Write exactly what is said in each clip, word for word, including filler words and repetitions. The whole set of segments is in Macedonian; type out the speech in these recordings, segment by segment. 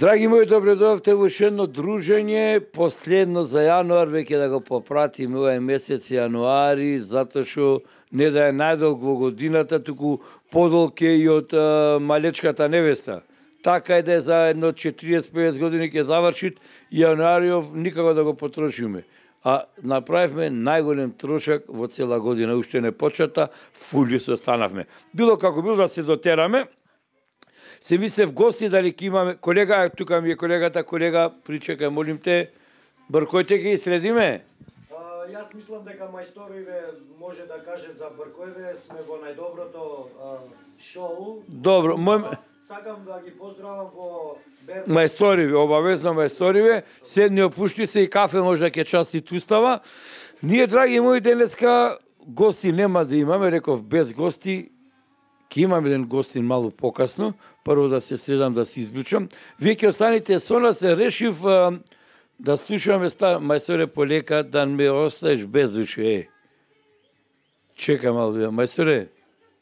Драги мои, добре дојдовте во уште едно дружење, последно за јануар, веќе да го попратиме овој месец јануари, затоа што не да е најдолг во годината, туку подолг е и од а, малечката невеста. Така е да е за едно четириесет до петдесет години ќе завршит јануариов, никако да го потрошиме. А направивме најголем трошак во цела година, уште не почета, фулли се останавме. Било како било да се дотераме, се мислев гости дали ќе имаме, колега, тука ми е колегата, колега, причекај, молим те, Бркојте ќе следиме? А, јас мислам дека мајсториве може да каже за Бркојве, сме во најдоброто а, шоу. Добро, мој... Сакам да ги поздравам во Бердо. Мајсториве, обавезно мајсториве, седни опушти се и кафе може да ќе части тустава. Ние, драги мои, денеска гости нема да имаме, реков без гости, ќе имам еден гостин малку покасно, прво да се средам да се избличам. Вие ќе останете со нас, се решив а, да слушаме ста мајсторе полека, да ме оставиш без уши, е. Чекај малку, мајсторе,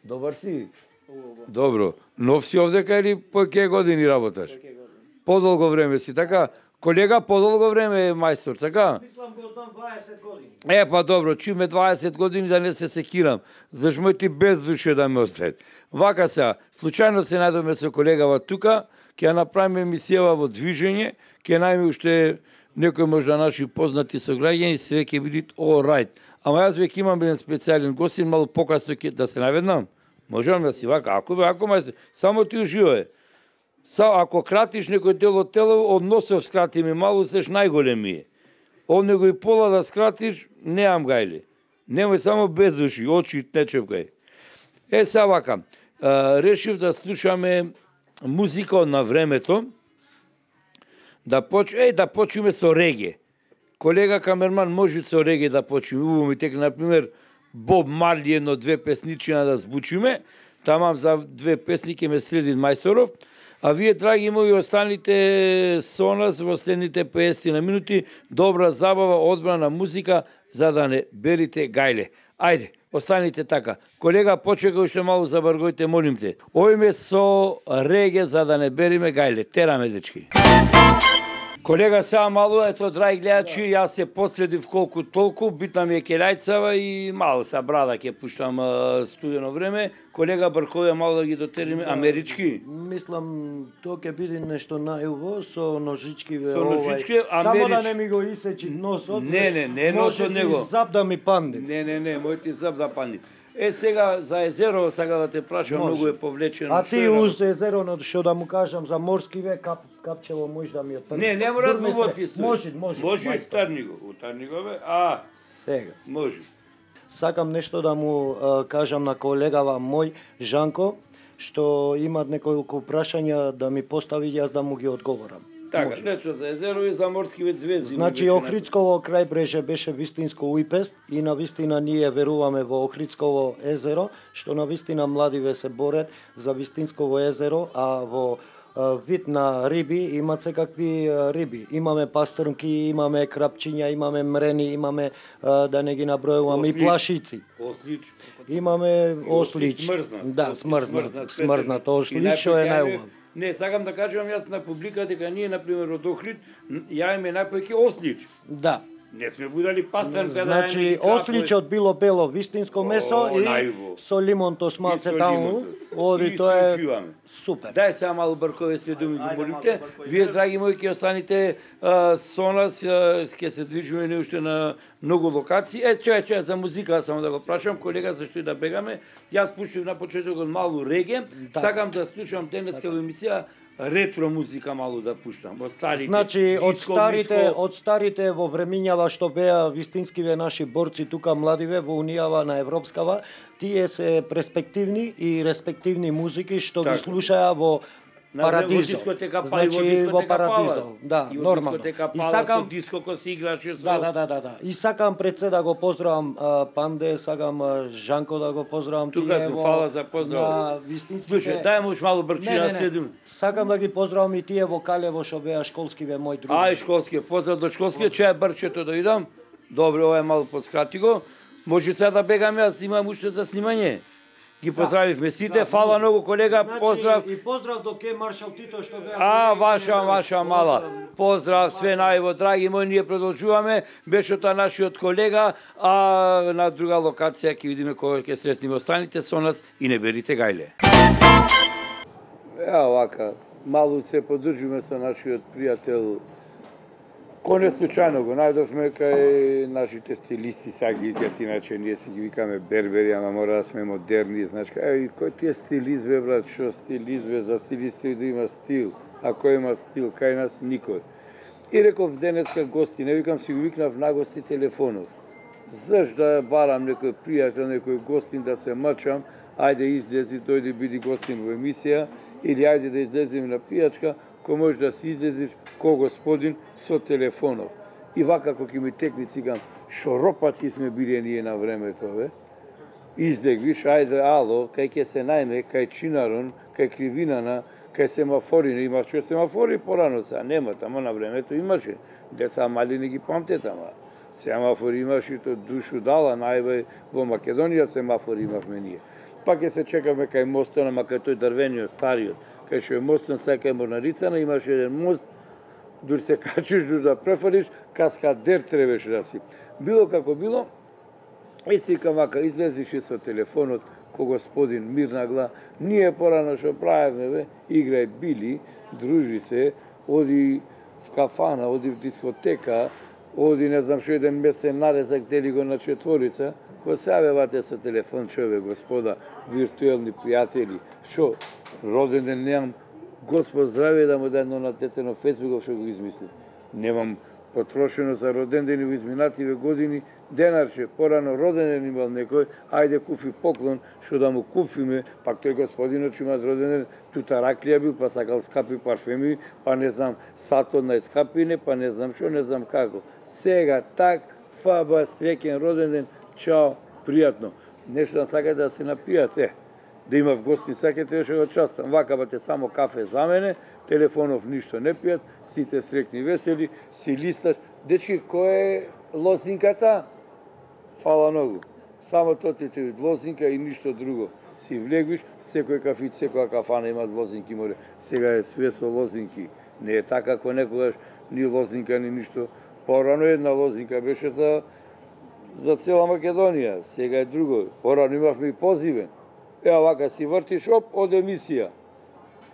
добар си? Добро. Нов си овдека или по ке години работаш? Подолго време си, така? Колега, подолго време е мајстор, така? Мислам го знам дваесет години. Е, па добро, чуме дваесет години да не се секирам. Зашто мој ти без душе да ме остават. Вака се, случајно се најдоме со колегава тука, ќе ја направиме емисија во движење, ќе најме уште некој можда наши познати сограѓани, све ќе биде all right. Ама јас веќе имам еден специјален гостин, малку покасно ќе да се наведнам. Можам да си вака, ако бе, ако мајстор, само ти уживај. Са, ако кратиш некој дел од тело, од носов скрати ми малу, сеш најголеми е. Од него и пола да скратиш, неам гајле. Немој само без уши, очи не чепкај. Е, са вака, а, решив да слушаме музика на времето, да поч... Е, да почнеме со реге. Колега камерман може со реге да почнеме. Уво ми тек, например, Боб Марли едно две песничина да збучиме, тамам за две песни ке ме следи мајсторов, а вие, драги мои, останите со нас во следните петдесет на минути, добра забава, одбрана музика, за да не берите гајле. Ајде, останите така. Колега, почекај уште малку за Бркојте, молим те. Ојме со реге, за да не бериме гајле. Тераме, дечки. Колега, сега малу, ето, драги гледачи, јас се последив колку толку, битна ми е келајцава и малу са брада ќе пуштам а, студено време. Колега Бркоје, малу да ги дотериме, амерички? Мислам, тоа ќе биде нешто најуво, со ножички. Ве, Со ножички, овај. Само америч... да не ми го исечи носот. Не, не, не носот него. Може зап да ми панди. Не, не, не, мој ти зап да панди. Е, сега за езеро, сега да те прашам, многу е повлечено. А ти уз езеро, што да му кажам за морски ве, кап, капчево може да ми отпрди. Не, не мора да го ти стои. Може, може. Може и Тарниго, у Тарнигове, а, Сега. може. Сакам нешто да му а, кажам на колегава мој, Жанко, што имат неколку прашања да ми постави, јас да му ги одговорам. Така, нешто за езеро и за морски вид звезди. Значи, Охридсково крајбреже беше вистинско уипест и на вистина ние веруваме во Охридсково езеро, што на вистина младиве се борат за вистинсково езеро, а во а, вид на риби имат секакви а, риби. Имаме пастрнки, имаме крапчиња, имаме мрени, имаме, а, да не ги набројуваме, и плашици. Ослич. Имаме ослич. Смрзнат. Да, смрзнат, смрзнат ослич, што е најубав. Не, сакам да кажам јас на публика дека ние, например, од Охрид, јаеме најповеќе ослич. Да. Не сме будали пастрнка. Значи, осличот било бело вистинско месо О, и најубаво. со лимонто смалце И со таму. лимонто. Оди, И тоа се е учиваме. супер. Дај сега малку Бркоје се думи ги Ајде, молимте. малку Бркоје. Вие, драги мои, ќе останете а, со нас, а, ќе се движиме не уште на многу локации. Е, чеј, чеј, за музика само да го прашам, колега, зашто и да бегаме. Јас пуштив на почетокот малу реге. Да. Сакам да слушам денеска во емисија ретро музика малу да пуштам. Од старите. Значи, од диско, старите, миско. од старите во времињава што беа вистинскиве наши борци тука младиве во Унијава на Европскава, тие се перспективни и респективни музики што Така. ги слушаа во На време во Парадизо. дискотека Пали, Значи, во во дискотека Парадизо. Палас. Да, И во нормално. дискотека И Палас, сакам со диско кој се играше со... Да, да, да, да, да. И сакам пред се да го поздравам а, Панде, сакам а, Жанко да го поздравам. Тука тие сум, во- фала за поздрав. На вистинските... Слушај, дај му малку Не, брчина, не, не. следим. Сакам да ги поздравам и тие во Калево што беа школскиве мои други. Ај, школскиот, поздрав до школскиот, чеја брчето да идам. Добре, ова е малку подскрати го. Може сега да бегам, јас имам уште за снимање. Ги поздравивме сите, фала многу колега, Значи, поздрав. И поздрав до ке Маршал Тито што беа. А, ваша, ваша мала. Поздрав, све најво, драги мои, ние продолжуваме. Беше тоа нашиот колега, а на друга локација ќе видиме кога ќе сретнеме. Останите со нас и не берите гајле. Еа вака, малку се подржиме со нашиот пријател. Ко не случајно го најдовме кај нашите стилисти, сега ги викат, иначе ние си ги викаме бербери, ама мора да сме модерни, значи, еј, кој ти е стилист, бе, брат, шо стилист, бе, за стилисти да има стил, а кој има стил, кај нас никој. И реков денеска гости, не викам, си го викнав на гости телефонот. Заш да барам некој пријател, некој гостин да се мачам, ајде излези, дојде биди гостин во емисија, или ајде да излезем на пијачка, кој може да си излезиш ко господин со телефонов. И вака кога ми текни цигам, шоропаци сме били ние на времето, бе. Излег, виш, ајде, ало, кај ќе се најме, кај Чинарон, кај Кривинана, кај семафори, имаше семафори порано, сега нема, тамо на времето имаше. Деца мали не ги памтет, ама. Семафори имаше, то душу дала, најбај во Македонија семафори имавме ние. Пак ќе се чекаме кај мостот, ама кај тој дрвениот, стариот, кај што е мостот, сега кај Морнарицана, имаше еден мост, дури се качиш, дури да префалиш, каскадер требеше да си. Било како било, и си викам вака, излезлиш со телефонот, ко господин Мирнагла, ние порано што правевме, бе, играј били, дружи се, оди в кафана, оди в дискотека, оди не знам што еден месен нарезак, дели го на четворица, кој се јавевате со телефон, чове, господа, виртуелни пријатели, што, роден ден немам, Господ здраве да му даде на дете на Фейсбуков што го измисли. Немам потрошено за роден ден во изминативе години, денарче, порано роден ден имал некој, ајде куфи поклон, што да му купиме, пак тој господинот што има роден ден, тута раклија бил, па сакал скапи парфеми, па не знам, сатот на скапине, па не знам што, не знам како. Сега так, фаба, среќен роден ден, чао, пријатно. Нешто да сакате да се напијате, да има в гости, сакате што го частам. Вака бате само кафе за мене, телефонов ништо не пијат, сите срекни весели, си листаш. Дечки, кој е лозинката? Фала многу. Само тоа ти ти лозинка и ништо друго. Си влегвиш, секој кафит, секоја кафана има лозинки, море. Сега е све со лозинки. Не е така како некогаш ни лозинка, ни ништо. Порано една лозинка беше за за цела Македонија, сега е друго. Порано имавме и позивен. Еа вака си вртиш, оп, од емисија.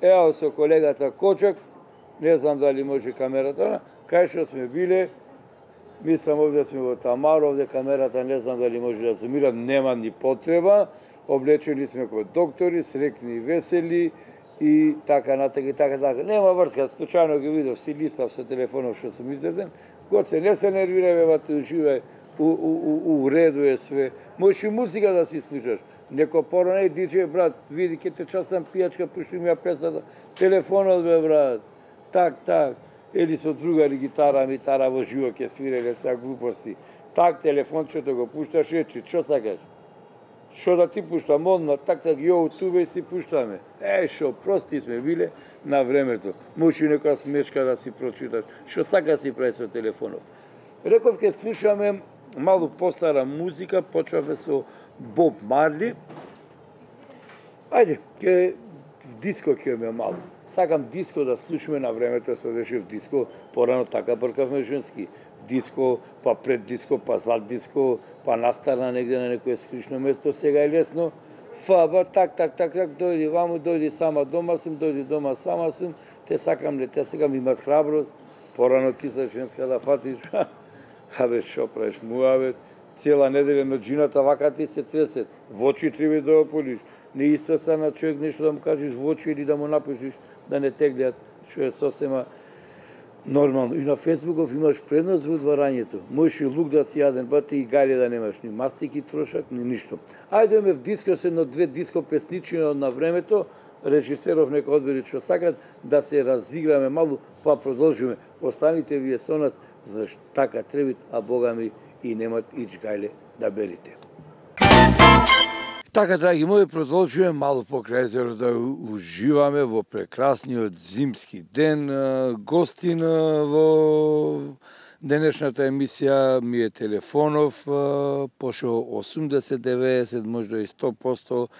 Еа со колегата Кочак, не знам дали може камерата, кај што сме биле, мислам овде сме во Тамаро, овде камерата не знам дали може да зумира, нема ни потреба, облечени сме кој доктори, срекни и весели, и така натака и така така. Нема врска, случајно ги видов, си листав со телефонов што сум излезен, Гоце, не се нервирај, бе, уживај, у, у, у, у реду е све. Можеш и музика да си слушаш. Неко порано, еј, диджеј, брат, види, ке те часам пијачка, пушти ми ја песната, телефонот, бе, брат, так, так, или со другари гитара, митара во живо ке свиреле са глупости. Так, телефончето го пушташ, речи, што сакаш? Што да ти пуштам, одма, так, так, јо, тубе си пуштаме. Е, шо, прости сме биле на времето. Може и некоја смешка да си прочиташ. Што сака си прави со телефонот. Реков, ке слушаме малку постара музика, почваме со Боб Марли. Ајде, ке в диско ке ме малку. Сакам диско да слушаме на времето, се одеше в диско, порано така бркавме женски. В диско, па пред диско, па зад диско, па настарна негде на некој скришно место, сега е лесно. Фаба, так, так, так, так, дојди ваму, дојди сама дома сум, дојди дома сама сум, те сакам, не те сакам, имат храброст, порано ти са женска да фатиш, абе, шо правиш, муавет, цела неделя на джината вака ти се тресет, в очи треба да ополиш, не исто са на човек нешто да му кажеш в очи или да му напишеш, да не те гледат, што е сосема нормално. И на Фейсбуков имаш предност во дворањето. Можеш и лук да си јаден, ба ти и гајле да немаш, ни мастики трошак, ни ништо. Ајде ме в диско се на две диско песничини на времето, режисеров нека одбери што сакат, да се разиграме малку, па продолжиме. Останите вие со нас, зашто така требит, а Бога ми и немат ич гајле да берите. Така, драги мои, продолжуваме мало покрај езеро да уживаме во прекрасниот зимски ден. Гостин во денешната емисија ми е телефонов, пошо осумдесет, деветдесет, можда и сто проценти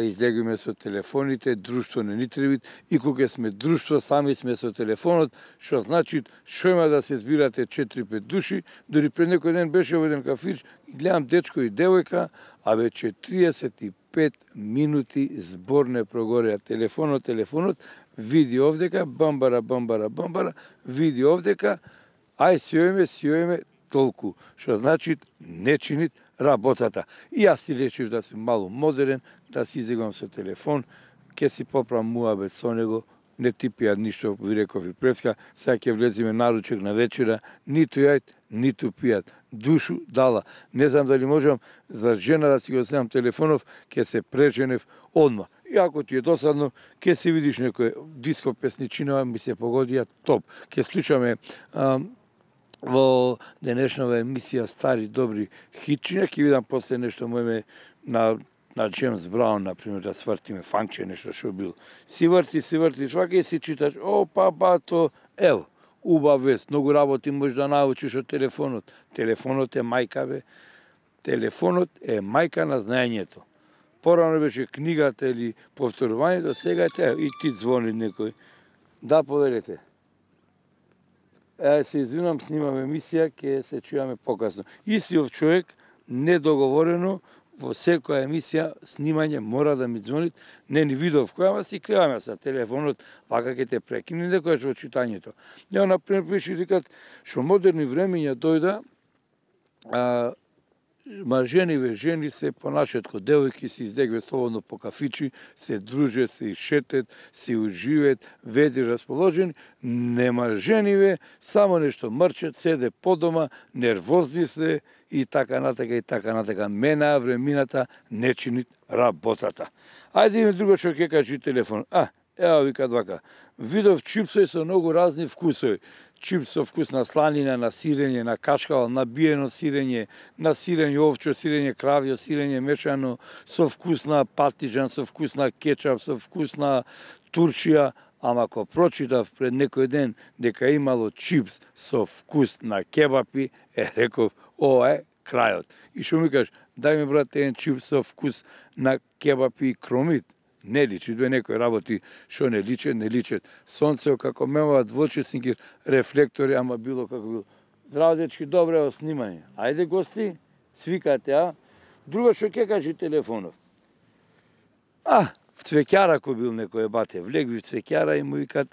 излегуваме со телефоните, друштво не ни требит, и кога сме друштво, сами сме со телефонот, што значи, што има да се збирате четири-пет души, дори пред некој ден беше во еден кафич, гледам дечко и девојка, а веќе четириесет и пет минути збор не прогореа. Телефонот, телефонот, види овдека, бамбара, бамбара, бамбара, види овдека, ај сјојме, сјојме, толку. Што значи не чинит работата. И јас си речив да сум мало модерен, да си изиграм со телефон, ке си поправам муабет со него, не ти пијат ништо, ви реков и преска, сега ќе влезиме наручек на вечера, ниту јајт, ниту пијат. Душу дала. Не знам дали можам за жена да си го земам телефонов, ќе се преженев одма. И ако ти е досадно, ќе си видиш некој диско песничина, ми се погодија топ. Ќе слушаме а, во денешнава емисија стари добри хитчиња, ќе видам после нешто мојме на на Джеймс Браун, например, да свртиме фанкче, нешто што бил. Си врти, си врти, швака и си читаш, о, па, па, то, ево, убав вест, многу работи можеш да научиш од телефонот. Телефонот е мајка, бе. Телефонот е мајка на знаењето. Порано беше книгата или повторувањето, сега е теја, и ти звони некој. Да, повелете. Е, се извинам, снимам емисија, ќе се чуваме покасно. Истиот човек, недоговорено, во секоја емисија, снимање мора да ми звонит, не ни видов која, ама си криваме sa телефонот, вака ќе те прекине некојаш во читањето. Ја, например, пиши викат, што модерни времења дојда, а, ма жениве жени се понашат ко девојки, се издегве слободно по кафичи, се дружат, се ишетет, се уживет, веди расположени, нема жениве, само нешто мрчат, седе по дома, нервозни се, и така натака, и така натака. Мена времината не чинит работата. Ајде има друго што ќе кажи телефон. А, ево викат вака. Видов чипсови со многу разни вкусови. Чипс со вкус на сланина, на сирење, на качкава, на биено сирење, на сирење овчо, сирење кравјо, сирење мешано, со вкус на патиџан, со вкус на кетчап, со вкус на турчија. Ама ако прочитав пред некој ден дека имало чипс со вкус на кебапи, е реков, ова е крајот. И што ми кажеш, дај ми брат еден чипс со вкус на кебапи и кромит. Не личи, две некои работи што не личат, не личат. Сонцео како мемават двочесник рефлектори, ама било како било. Здраво дечки, добре о снимање. Ајде гости, свикате, а? Друго што ќе кажи телефонов. А, в цвеќара кој бил некој бате, влегви в цвеќара и му викат,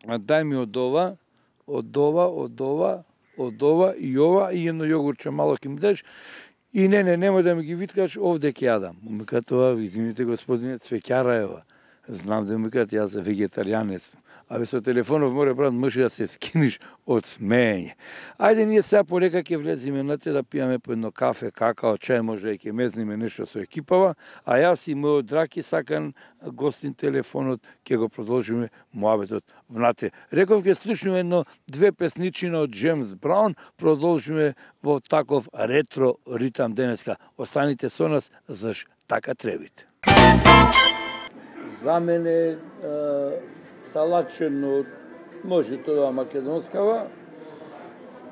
дај ми од ова, од ова, од ова, од ова и ова, и едно јогурче мало ќе ми дадеш, и не, не, немој да ми ги виткаш, овде ќе јадам. Му викат ова, извините господине, цвеќара е ова. Знам да му викат, јас вегетаријанец. Абе со телефонов море брат може да се скиниш од смеење. Ајде ние сега полека ќе влеземе на те да пијаме по едно кафе, какао, чај, може и ќе мезниме нешто со екипава, а јас и мојот драки сакан гостин телефонот, ќе го продолжиме муабетот внатре. Реков ќе слушнеме едно две песничина од Джеймс Браун, продолжиме во таков ретро ритам денеска. Останите со нас, заш така требите. За мене салатчено, може тоа македонскава,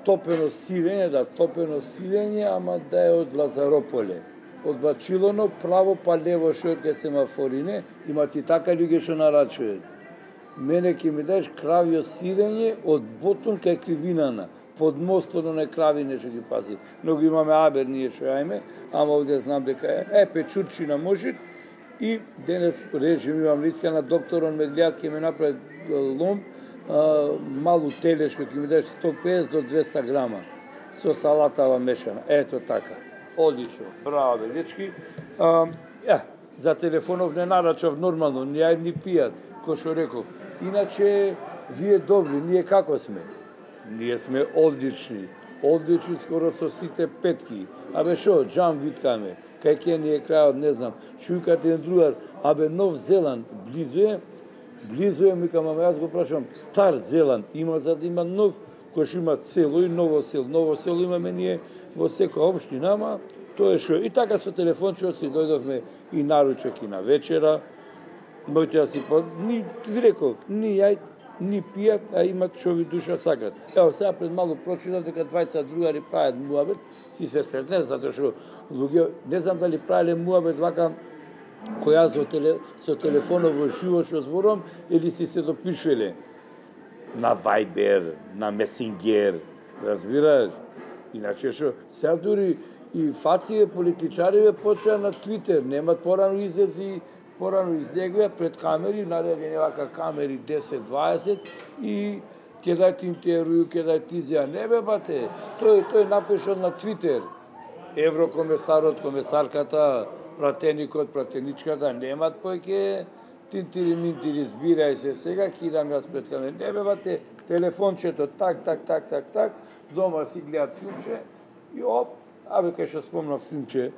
топено сирење, да, топено сирење, ама да е од Лазарополе. Од Бачилоно, право па лево шорке семафорине, има ти така луѓе што нарачуваат. Мене ќе ми дадеш кравјо сирење од Ботун кај Кривинана, под мостот на кравине што ги пази. Многу имаме абер ние што јајме, ама овде знам дека е, е печурчина може. И денес режим имам лиска на докторон ме гледат, ќе ме направи лом, а, малу телешко, ќе ми дадеш сто педесет до двеста грама, со салатава мешана. Ето така. Одлично. Браво, бе, дечки. А, ја, за телефонов не нарачав нормално, ни ајд ни пијат, кој што реков. Иначе, вие добри, ние како сме? Ние сме одлични. Одлични скоро со сите петки. Абе шо, джам виткаме. Кај ке ни е крајот, не знам. Шујкат еден другар, абе Нов Зеланд, близу е, близу е, микам, ама јас го прашам, Стар Зеланд, има за да има нов, кој што има село и ново село. Ново село имаме ние во секоја општина, ама тоа е шо. И така со телефончето си дојдовме и наручок и на вечера. Мојте да си по... Ни, ви реков, ни јајд, ни пијат, а имат што ви душа сакат. Ево, сега пред малку прочитав дека двајца другари прават муабет, си се сретне, затоа што луѓе, не знам дали правеле муабет вака, кој јас со, теле, со телефонот во живо што зборувам, или си се допишеле на Viber, на Messenger, разбираш? Иначе што, сега дури и фације политичариве почеа на Твитер, немат порано излези, порано излегува пред камери, наредени вака камери десет дваесет и ќе дајте интервју, ќе дајте изјава. Не бе, бате, тој, тој напишал на Твитер. Еврокомесарот, комесарката, пратеникот, пратеничката, немат појќе тинтири минтири, збирај се сега, кидам јас пред камери. Не бе, бате, телефончето, так, так, так, так, так, дома си гледат филмче и оп, абе, кај што спомнав филмче,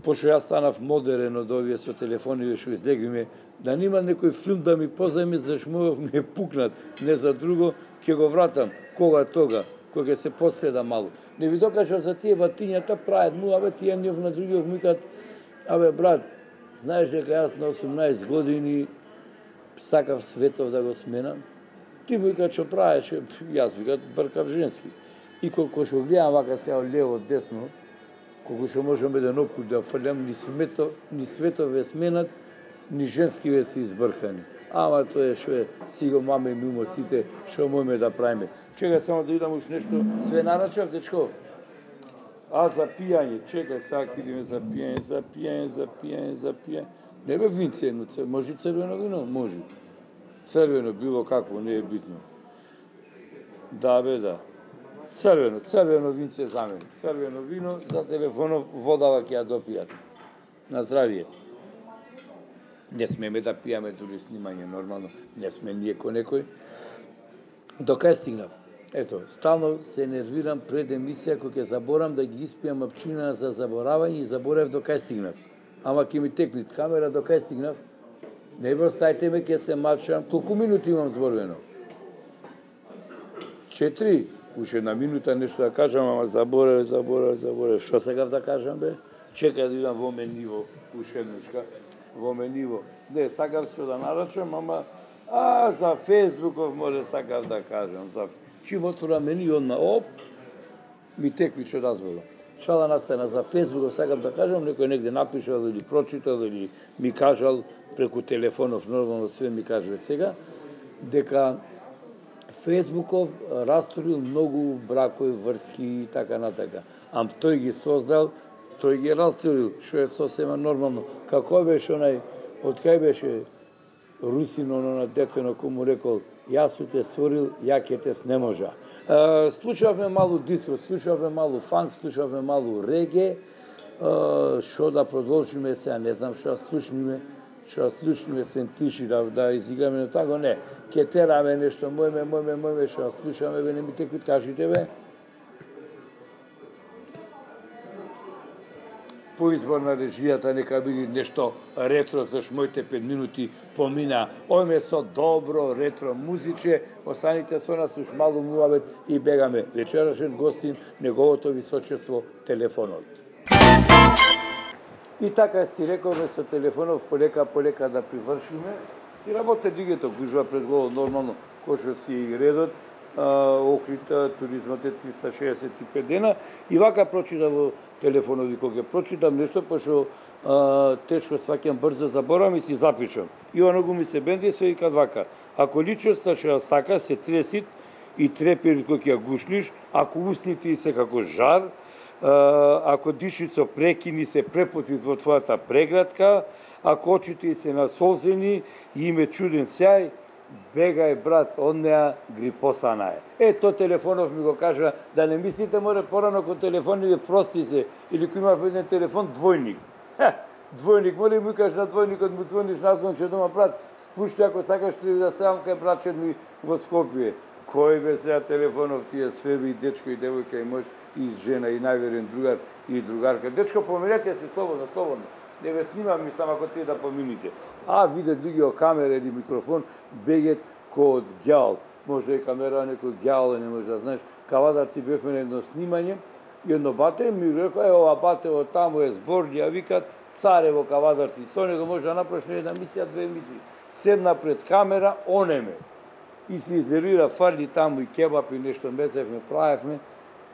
пошто јас станав модерен од овие со телефони што излегвиме, да нема некој филм да ми позајме, зашто мовев ми е пукнат, не за друго, ќе го вратам, кога тога, кога ќе се последа малку. Не ви докажав за тие батињата, прават му, абе, тие нив на другиот микат, абе, брат, знаеш дека јас на осумнаесет години сакав светов да го сменам, ти му вика што правеше, јас вика бркав женски. И колко што гледам вака сега лево, десно, колку што можам еден опут да фрлям, ни, смето, ни светове сменат, ни женскиве се избркани. Ама тоа е што е, си го маме мимо сите, што можеме да правиме. Чекај само да видам уш нешто, све нарачав, дечко? А, за пијање, чекај, сега идеме за пијање, за пијање, за пијање, за пијање. Не бе винце едно, може црвено вино? Може. Црвено, било какво, не е битно. Да, бе, да. Црвено, црвено винце за мене. Црвено вино, за телефонов водава ќе ја допијат. На здравие. Не смеме да пијаме дури снимање, нормално. Не сме ние ко некој. До кај стигнав? Ето, стално се нервирам пред емисија, кој ќе заборам да ги испијам апчина за заборавање и заборев до кај стигнав. Ама ќе ми текне камера до кај стигнав. Не бе, оставите ме, ќе се мачам. Колку минути имам зборувано? Четири. Уште една минута нешто да кажам, ама заборев, заборев, заборев. Што сакав да кажам, бе? Чекај да идам во мениво, уште еднашка. Во мениво. Не, сакав што да нарачам, ама а, за Фейсбуков може сакав да кажам. За... Чим отвора мени, одма, оп, ми текви што разборам. Шала настана за Фейсбуков, сакав да кажам, некој негде напишал или прочитал, или ми кажал преку телефонов, нормално све ми кажува сега, дека Фейсбуков расторил многу бракови, врски и така натака. Ам тој ги создал, тој ги расторил, што е сосема нормално. Како беше онај, од кај беше Русин, оно на детено, кој му рекол, јас су те створил, ја ке те не можа. Uh, слушавме малу диско, слушавме малу фанк, слушавме малу реге, што uh, да продолжиме сега, не знам што да слушниме, што да слушниме сентиши, да, да изиграме на тако, не. Ке тераме нешто, мојме, мојме, мојме, што да слушаме, бе, не ми те кажите, бе. По избор на режијата нека биде нешто ретро, зашто моите пет минути помина. Ојме со добро ретро музиче, останите со нас уш малу муабет и бегаме. Вечерашен гостин, неговото височество, телефонот. И така си рековме со телефонов полека, полека да привршиме. Си работе дигето, гужва пред голо нормално, кој што си редот. Охрита, туризмот е триста шеесет и пет дена. И вака прочита во телефонови, кога ќе прочитам нешто, пошто тешко сваќам, брзо заборавам и си запишам. И оного ми се бенди се вика вака. Ако личноста што сака, се тресит и трепери кога ќе ја гушниш, ако усните се како жар, ако дишицо прекини се препотвит во твојата преградка, ако очите се насолзени и име чуден сјај, бегај, брат, од неа грипосана е. Е, то телефонов ми го кажа, да не мислите, море, порано ко телефони прости се, или кој има еден телефон, двојник. Ха, двојник, море ми кажа на двојникот, му звониш назвон, че дома, брат, спушти ако сакаш ти да сам кај братчет ми во Скопје. Кој бе сега телефонов тие свеби, и дечко, и девојка, и мъж, и жена, и најверен другар, и другарка. Дечко, помирете се слободно, слободно. Не ве снимам, мислам, ако тие да помините. А, виде другио камера или микрофон, бегет кој од ѓал. Може и камера некој ѓал, не може да знаеш. Кавадарци бевме на едно снимање, и едно бате ми рекоа, е, ова бате од таму е зборни, а викат, царево Кавадарци. Со него може да направиш една мисија, две мисии. Седна пред камера, онеме. и се изнервира, фарли таму и кебап и нешто месевме, правевме,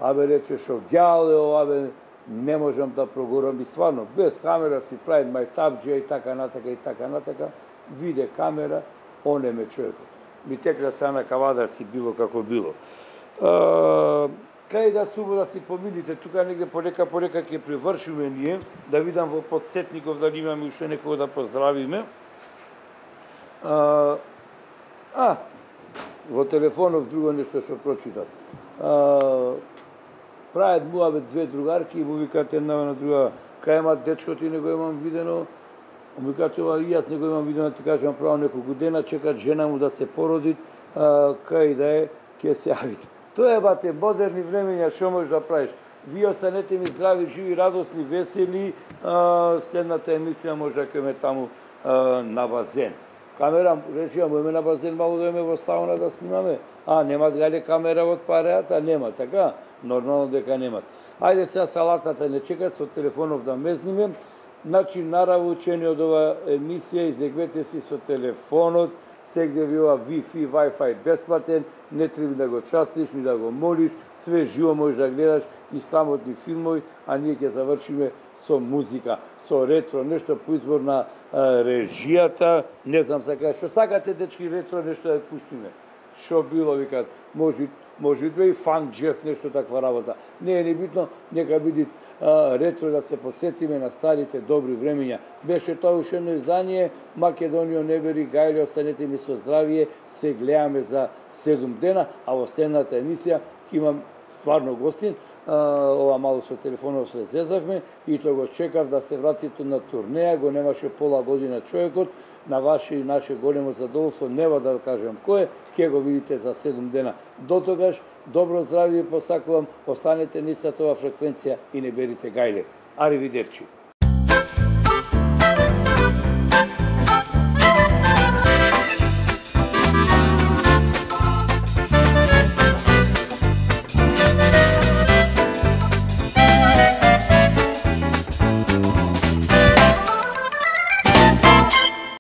абе рече шо гјале ова, бе, не можам да прогорам и стварно, без камера си прави мајтабџија и така натака и така натака, виде камера, онеме човекот. Ми текна са на кавадар си било како било. А, кај да стубо да си помилите, тука негде полека полека ќе привршиме ние, да видам во подсетников дали имаме уште некого да поздравиме. А, а во телефонов друго нешто што прочитав. А, прават муабет две другарки и му викат една на друга, кај има дечко ти не го имам видено, му викат ова и јас не го имам видено, ти кажам право неколку дена чекат жена му да се породи, а, кај да е, ќе се јавите. Тоа е бате модерни времења, што можеш да правиш? Вие останете ми здрави, живи, радосни, весели, а, следната емисија може да ќе ме таму а, на базен. Камера, речи, можеме на базен малку да име во сауна да снимаме. А, немат гале камера од пареата? Нема, така? Нормално дека немат. Ајде сега салатата не чекат, со телефонов да мезниме. Значи, нараву учени од ова емисија, излегвете си со телефонот, сегде ви ова Wi-Fi, Wi-Fi бесплатен, не треба да го частиш, ни да го молиш, све живо можеш да гледаш и срамотни филмови, а ние ќе завршиме со музика, со ретро, нешто по избор на а, режијата, не знам сака, што сакате дечки ретро нешто да пуштиме. Што било, викат, може, може да и фанк, джез, нешто таква работа. Не е небитно, нека биде а, ретро да се подсетиме на старите добри времења. Беше тоа уште едно издание, Македонијо не бери гајле, останете ми со здравие, се гледаме за седум дена, а во следната емисија ќе имам стварно гостин, ова мало со телефонов се зезавме и тоа го чекав да се вратите на турнеја, го немаше пола година човекот, на ваше и наше големо задоволство, нема да кажам кој е, ќе го видите за седум дена. До тогаш, добро здравје посакувам, останете на истата ова фреквенција и не берите гајле. Аривидерчи.